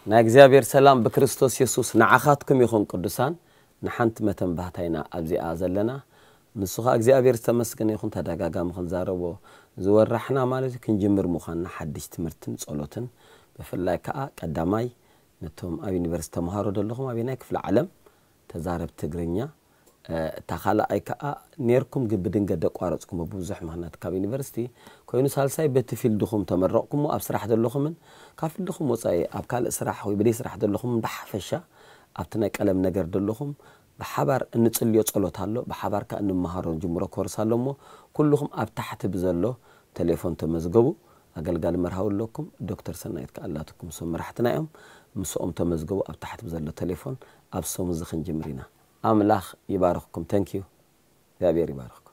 ናይ እግዚኣብሔር ሰላም ብክርስቶስ የሱስ ንዓኻትኩም ይኹን። ቅዱሳን፣ ንሓንቲ መተንባህታ ኢና ኣብዚኣ ዘለና። ንሱ ኸኣ እግዚኣብሔር ዝተመስገነ ይኹን። ተደጋጋሚ ክንዛረቦ ዝወራሕና ማለት እዩ፣ ክንጅምር ምዃንና ሓድሽ ትምህርትን ጸሎትን። ብፍላይ ከኣ ቀዳማይ ነቶም ኣብ ዩኒቨርሲቲ ተምሃሮ ዘለኹም ኣበየናይ ክፍለ ዓለም ተዛረብ ትግርኛ፣ እ፣ እታ ካልኣይ ከኣ ኔርኩም ግን ብድንገት ደቋረጽኩሞ ብብዙሕ ምኽንያት ካብ ዩኒቨርሲቲ ኮይኑ፣ ሳልሳይ በቲ ፊልድኹም ተመረቕኩሞ ኣብ ስራሕ ዘለኹምን ካብ ፊልድኹም ወጻኢ ኣብ ካልእ ስራሕ ወይ ብደይ ስራሕ ዘለኹምን ብሓፈሻ ኣብቲ ናይ ቀለም ነገር ዘለኹም ብሓባር እንጽልዮ ጸሎት ኣሎ፣ ብሓባር ከኣ እንመሃሮ ንጅምሮ ኮርስ ኣሎ እሞ ኩልኹም ኣብ ታሕቲ ብዘሎ ቴሌፎን ተመዝገቡ። ኣገልጋሊ መርሃዊ ኣለኩም፣ ዶክተር ሰናይት ከኣ ኣላትኩም፣ እሶም መራሕትና እዮም። ምስኦም ተመዝገቡ፣ ኣብ ታሕቲ ብዘሎ ቴሌፎን ኣብ ሰሙን እዚ ክንጅምር ኢና። ኣምላኽ ይባርኽኩም። ተንኪዩ። እግዚኣብሔር ይባርኽኩም።